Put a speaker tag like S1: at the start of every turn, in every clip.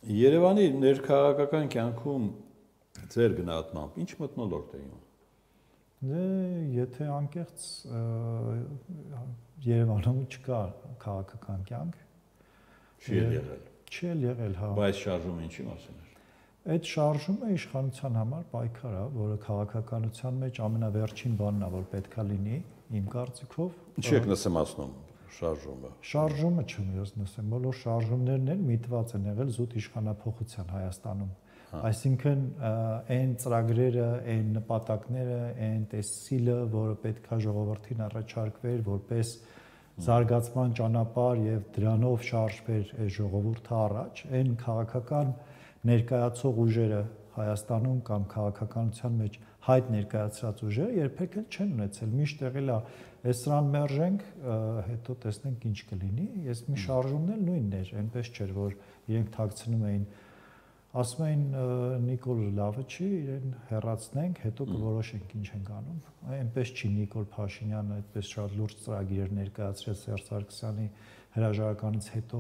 S1: Երևանի ներքաղաքական կյանքում ձեր գնահատմամբ ինչ մթնոլորտ է եղել։
S2: Դե եթե անկեղծ Երևանում չկա քաղաքական կյանք,
S1: չի եղել։
S2: Չի եղել, հա։
S1: Բայց շարժումը ինչի մասին էր։
S2: Այդ շարժումը իշխանության համար պայքար է, որը քաղաքականության մեջ ամենավերջին բանն է, որ պետքա լինի, իմ կարծիքով։
S1: Ինչի եք նսեմացնում շարժումը։
S2: Շարժումը չեմ ես նսեմ, բոլոր շարժումներն են միտված են եղել զուտ իշխանափոխության Հայաստանում։ Այսինքն այն ծրագրերը, այն նպատակները, այն տեսիլը, որը պետքա ժողովրդին առաջարկվեր որպես զարգացման ճանապարհ եւ դրանով շարժվեր այս ժողովուրդը առաջ, այն քաղաքական ներկայացող ուժերը Հայաստանում կամ քաղաքականության մեջ հայտ ներկայացրած ուժերը երբեք էլ չեն ունեցել, միշտ եղել է այս սրան մերժենք, հետո տեսնենք ինչ կլինի, ես մի շարժումն էլ նույնն էր, այնպես չէր, որ իրենք թաքցնում էին, ասում էին Նիկոլ լավը չի, իրեն հեռացնենք, հետո կորոշենք ինչ ենք անում, այնպես չի Նիկոլ Փաշինյանը այդպես շատ լուրջ ծրագիր ներկայացրել Սերժ Սարգսյանի հրաժարականից հետո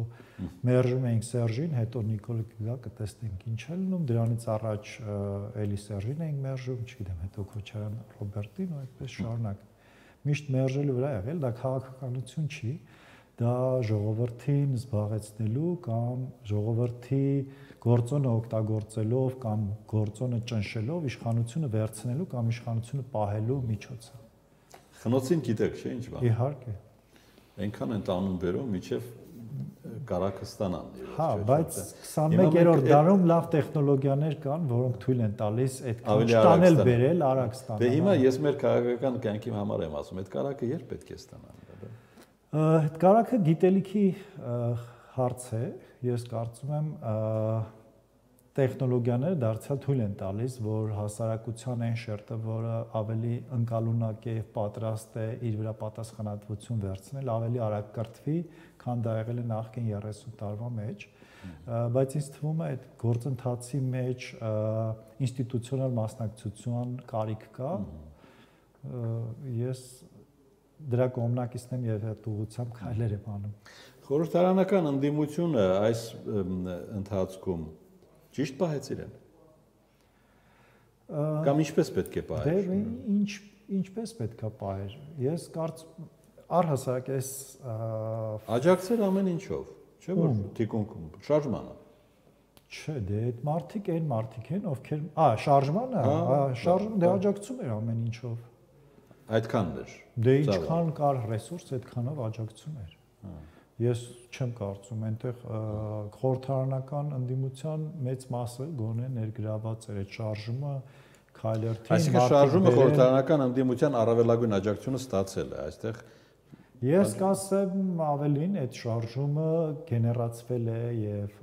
S2: մերժում էինք Սերժին, հետո Նիկոլը կգա կտեսնենք ինչ է լինում, դրանից առաջ էլի Սերժին էինք մերժում, չգիտեմ, հետո Քոչարյան Ռոբերտին ու այդպես շարունակ։ Միշտ մերժելու վրա եղել, դա քաղաքականություն չի, դա ժողովրդին զբաղեցնելու կամ ժողովրդի գործոնը օգտագործելով կամ գործոնը ճնշելով իշխանությունը վերցնելու կամ իշխանությունը պահելու միջոց է։
S1: Խնոցին գիտեք, չէ՞ ինչ բան։
S2: Իհարկե։
S1: Այնքան են տանում բերում, միջև կարակը ստանան։
S2: Հա, բայց 21-րդ դարում լավ տեխնոլոգիաներ կան, որոնք թույլ են տալիս այդքան չտանել բերել, արագ ստանալ։
S1: Դե հիմա ես մեր քաղաքական կյանքի համար եմ ասում, այդ կարակը երբ պետք է ստանան։
S2: Այդ կարակը գիտելիքի հարց է, ես կարծում եմ տեխնոլոգիաները դարձյալ թույլ են տալիս, որ հասարակության այն շերտը, որը ավելի ընկալունակ է եւ պատրաստ է իր վրա պատասխանատվություն վերցնել, ավելի արագ կրթվի, քան դա եղել է նախկին 30 տարվա մեջ, բայց ինձ թվում է այդ գործընթացի մեջ ինստիտուցիոնալ մասնակցություն կարիք կա, ես դրա կողմնակիցն եմ եւ այդ ուղղությամբ քայլեր եմ անում։
S1: Խորհրդարանական ընդդիմությունը այս ընթացքում ճիշտ պահեց իրեն։ Կամ ինչպես պետք է պահեր։
S2: Դե ինչպես պետք է պահեր։ Ես կարծում առհասարակ այս
S1: աջակցել ամեն ինչով, չէ՞ որ թիկունք շարժմանը։
S2: Չէ, դե այդ մարդիկ այն մարդիկ են, ովքեր շարժմանը, շարժում դե աջակցում էր ամեն ինչով։
S1: Այդքանն էր։
S2: Դե ինչքան կար ռեսուրս, այդքանով աջակցում էր։ Ես չեմ կարծում, այնտեղ խորհրդարանական ընդդիմության մեծ մասը գոնե ներգրաված էր այդ շարժումը քայլերթին։
S1: Այսինքն շարժումը խորհրդարանական ընդդիմության առավելագույն աջակցությունը ստացել է, այստեղ
S2: ես կասեմ ավելին, այդ շարժումը գեներացվել է եւ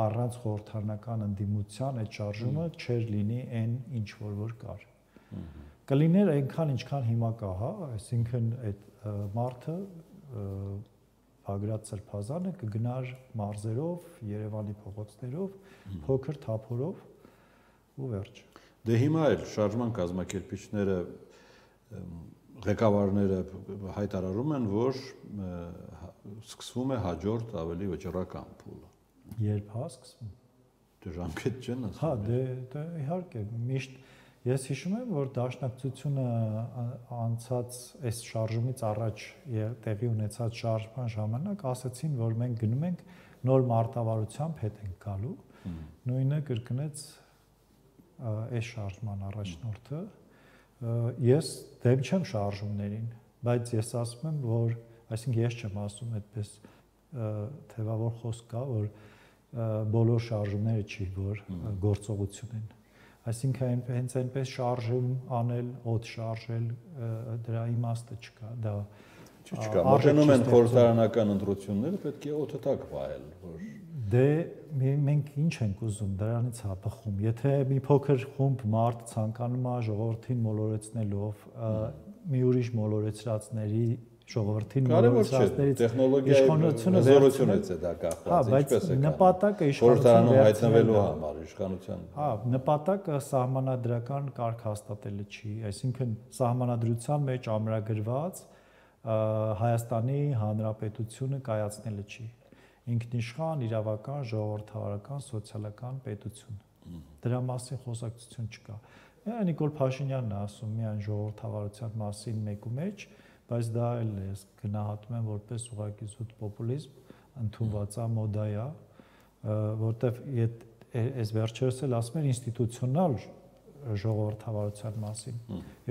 S2: առանց խորհրդարանական ընդդիմության այդ շարժումը չէր լինի այն ինչ որ կար։ Կլիներ այնքան ինչքան հիմա կա, հա, այսինքն այդ մարդը Բագրատ Սրբազանը կգնար մարզերով, Երևանի փողոցներով, փոքր թափորով ու վերջ։
S1: Դե հիմա էլ շարժման կազմակերպիչները ղեկավարները հայտարարում են, որ սկսվում է հաջորդ ավելի վճռական փուլը։
S2: Երբ հա սկսվում։
S1: Դե ժամկետ չեն ասում։
S2: Հա, դե իհարկե, միշտ ես հիշում եմ, որ Դաշնակցությունը անցած այս շարժումից առաջ տեղի ունեցած շարժման ժամանակ ասացին, որ մենք գնում ենք նոր մարտավարությամբ հետ ենք գալու։ Նույնը կրկնեց այս շարժման առաջնորդը։ Ես դեմ չեմ շարժումներին, բայց ես ասում եմ, որ այսինքն ես չեմ ասում այդպես թեվավոր խոսք կա, որ բոլոր շարժումները չի, որ գործողություն են։ Այսինքն հենց այնպես շարժում անել, օդ շարժել, դրա իմաստը չկա, դա
S1: չկա։ Մոտենում են խորհրդարանական ընտրությունները, պետք է օդը տակ վայել, որ
S2: դե մենք ինչ ենք ուզում, դրանից է բխում։ Եթե մի փոքր խումբ մարդ ցանկանում է ժողովրդին մոլորեցնելով, մի ուրիշ մոլորեցրածների ժողովրդին մոլորեցրածներից
S1: իշխանությունը զորությունից է դա կախված, ինչպես է
S2: նպատակը
S1: իշխանություն հայտնվելու համար իշխանության։
S2: Հա, նպատակը սահմանադրական կարգ հաստատելը չի, այսինքն սահմանադրության մեջ ամրագրված Հայաստանի Հանրապետությունը կայացնելը չի։ ինքնիշխան, իրավական, ժողովրդավարական, սոցիալական պետություն։ Դրա մասին խոսակցություն չկա։ Նիկոլ Փաշինյանն է ասում միայն ժողովրդավարության մասին մեկու մեջ, բայց դա էլ է գնահատում եմ որպես ուղղակի զուտ պոպուլիզմ, ընդունված է, մոդա է, որտեվ այս վերջերս էլ ասում են ինստիտուցիոնալ ժողովրդավարության մասին։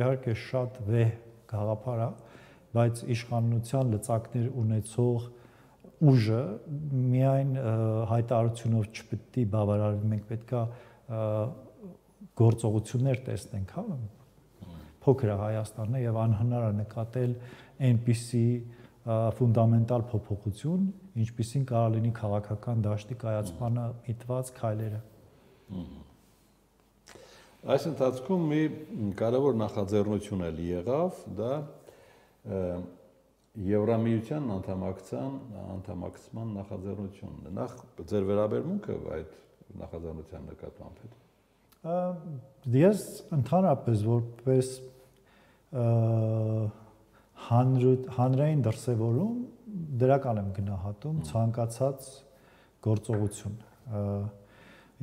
S2: Իհարկե շատ վեհ գաղափար է, բայց իշխանության լծակներ ունեցող ուժը միայն հայտարարությունով չպետք է բավարարվի, մենք պետքա գործողություններ տեսնենք, հա։ Փոքր է Հայաստանը եւ անհնար է նկատել այնպիսի ֆունդամենտալ փոփոխություն, ինչպիսին կարող լինի քաղաքական դաշտի կայացմանը միտված քայլերը։
S1: Այս ընթացքում մի կարևոր նախաձեռնություն էլ եղավ, դա Եվրամիության անդամակցման նախաձեռնությունն է։ Նախ ձեր վերաբերմունքը այդ նախաձեռնության նկատմամբ հետ։
S2: Ես ընդհանրապես որպես հանրային դրսևորում դրական եմ գնահատում ցանկացած գործողություն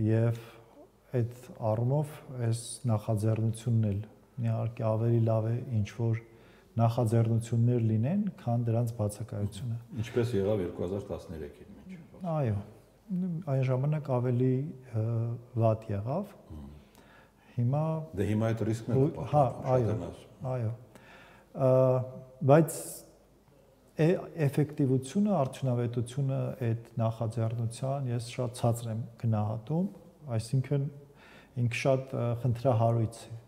S2: եւ այդ առումով այս նախաձեռնությունն էլ իհարկե ավելի լավ է ինչ որ նախաձեռնություններ լինեն, քան դրանց բացակայությունը։
S1: Ինչպես եղավ 2013-ին մինչև։
S2: Այո, այն ժամանակ ավելի վատ եղավ։ Հիմա
S1: հիմա այդ ռիսկն է
S2: պահպանում։ Այո։ Բայց էֆեկտիվությունը, արդյունավետությունը այդ նախաձեռնության ես շատ ցածր եմ գնահատում, այսինքն ինքը շատ խնդրահարույց է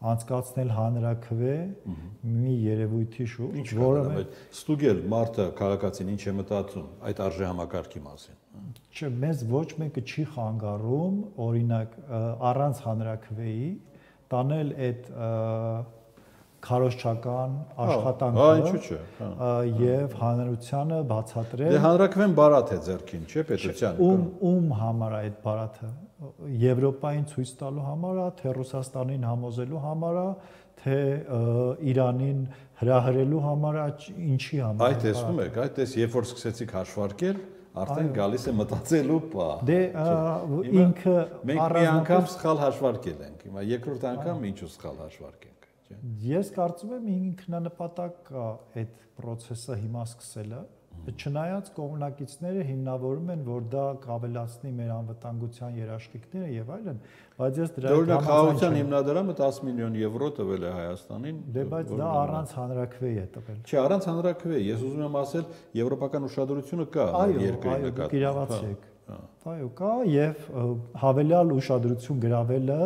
S2: անցկացնել հանրաքվե մի երևույթի շուրջ, որը
S1: ստուգել մարդը քաղաքացին ինչ է մտածում այդ արժե համակարգի մասին։
S2: Չէ, մեզ ոչ մեկը չի խանգարում, օրինակ, առանց հանրաքվեի տանել այդ քարոզչական աշխատանքը եւ հանրությանը բացատրել։
S1: Դե հանրաքվեն բարաթ է ձեռքին, չէ՞ պետության։
S2: Ում համար է այդ բարաթը։ Եվրոպային ցույց տալու համար է, թե Ռուսաստանին համոզելու համար է, թե Իրանին հրահրելու համար է, ինչի համար է։
S1: Այդ տեսնում եք, այդ էս երբ որ սկսեցիք հաշվարկել, արդեն գալիս է մտածելու պահ։
S2: Դե ինքը
S1: մենք մի անգամ սխալ հաշվարկել ենք, հիմա երկրորդ անգամ ինչու սխալ հաշվարկենք, չէ՞։
S2: Ես կարծում եմ ինքնանպատակ կա այդ process-ը հիմա սկսելը, չնայած կողմնակիցները հիմնավորում են, որ դա կավելացնի մեր անվտանգության երաշխիքները եւ այլն, բայց ես դրա հետ
S1: համաձայն չեմ։ Հիմնադրամը 10 միլիոն եվրո տվել է Հայաստանին։
S2: Դե բայց դա առանց հանրաքվեի է տվել։
S1: Չէ, առանց հանրաքվեի, ես ուզում եմ ասել, եվրոպական ուշադրությունը կա երկրի նկատմամբ։
S2: Այո, կա եւ հավելյալ ուշադրություն գրավելը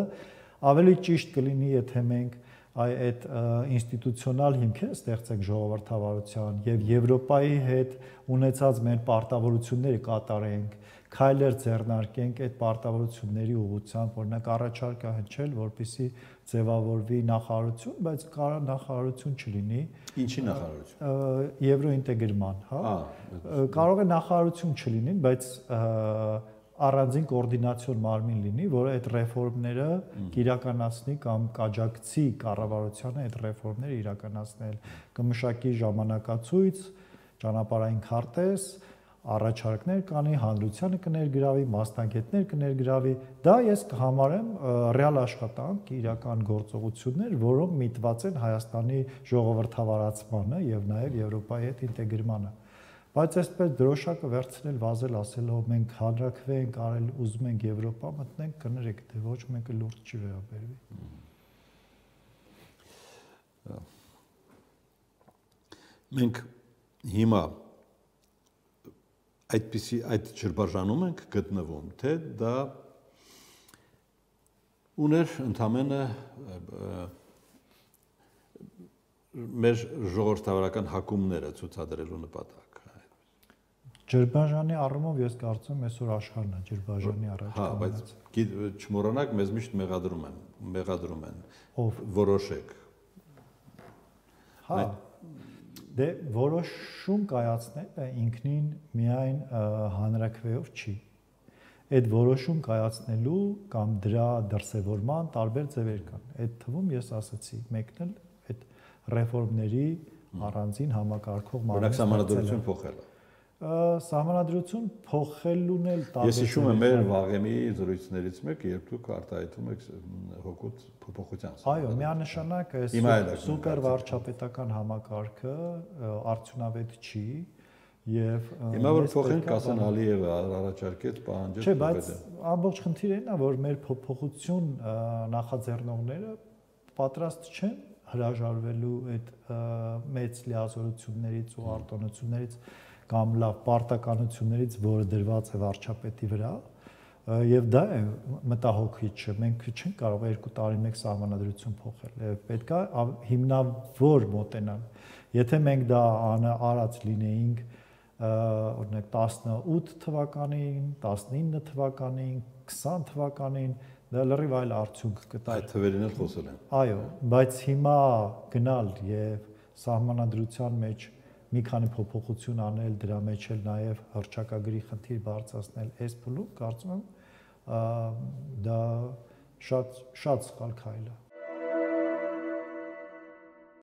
S2: ավելի ճիշտ կլինի, եթե մենք այդ ինստիտուցիոնալ հիմքերը ստեղծենք ժողովրդավարության եւ Եվրոպայի հետ ունեցած մեր պարտավորությունները կատարենք, քայլեր ձեռնարկենք այդ պարտավորությունների ուղղությամբ, օրինակ առաջարկ հնչել, որպեսզի ձևավորվի նախարարություն, բայց կարող նախարարություն չլինի։
S1: Ինչի նախարարություն։
S2: Եվրոինտեգրման, հա։ Կարող է նախարարություն չլինի, բայց առանձին կոորդինացիոն մարմին լինի, որը այդ ռեֆորմները իրականացնի կամ կաջակցի կառավարությանը այդ ռեֆորմները իրականացնել, կմշակի ժամանակացույց, ճանապարհային քարտեզ, առաջարկներ կանի, հանրությանը կներգրավի, մասնագետներ կներգրավի, դա ես կհամարեմ ռեալ աշխատանք, իրական գործողություններ, որոնք միտված են Հայաստանի ժողովրդավարացմանը եւ նաեւ Եվրոպայի հետ ինտեգրմանը։ Բայց այսպես դրոշակը վերցնել, վազել, ասելով մենք հանրաքվե ենք արել, ուզում ենք Եվրոպա մտնենք, կներեք, դե ոչ մեկը լուրջ չի վերաբերվի։
S1: Մենք հիմա այդպիսի այդ ջրբաժանում ենք գտնվում, թե դա ուներ ընդամենը մեր ժողովրդավարական հակումները ցուցադրելու նպատակ։
S2: Ջրբաժանի առումով ես կարծում եմ այսօր աշխարհն է ջրբաժանի առաջ։
S1: Հա, բայց չմոռանաք, մեզ միշտ մեղադրում են։ Ով որոշեք։
S2: Հա։ Դե որոշում կայացնելը ինքնին միայն հանրաքվեով չի։ Այդ որոշում կայացնելու կամ դրա դրսևորման տարբեր ձևեր կան։ Այդ թվում ես ասացի, մեկն էլ այդ ռեֆորմների առանձին համակարգող
S1: մարմին ստեղծելը։ Օրինակ, սահմանադրություն փոխելը։
S2: Սահմանադրություն փոխելուն էլ
S1: Ես հիշում եմ մեր վաղեմի զրույցներից մեկը, երբ դուք արտահայտում եք հօգուտ փոփոխության։
S2: Այո, միանշանակ այս սուպեր վարչապետական համակարգը արդյունավետ չի եւ
S1: հիմա որ փոխենք ասեն Ալիևը առաջարկեց պահանջել։
S2: Չէ, բայց ամբողջ խնդիրը նա որ մեր փոփոխություն նախաձեռնողները պատրաստ չեն հրաժարվելու այդ մեծ լիազորություններից ու արտոնություններից կամ լավ պարտականություններից, որը դրված է վարչապետի վրա, եւ դա է մտահոգիչը։ Մենք չենք կարող 2 տարի մեկ սահմանադրություն փոխել։ Պետք է հիմնավոր մոտենալ։ Եթե մենք դա արած լինեինք, օրինակ 18 թվականին, 19 թվականին, 20 թվականին, դա լրիվ այլ արդյունք կտար։
S1: Այդ թվերին էլ խոսել են։
S2: Այո, բայց հիմա գնալ եւ սահմանադրության մեջ մի քանի փոփոխություն անել, դրա մեջ էլ նաև հռչակագրի խնդիր բարձրացնել այս փուլում, կարծում եմ դա շատ սխալ քայլ է։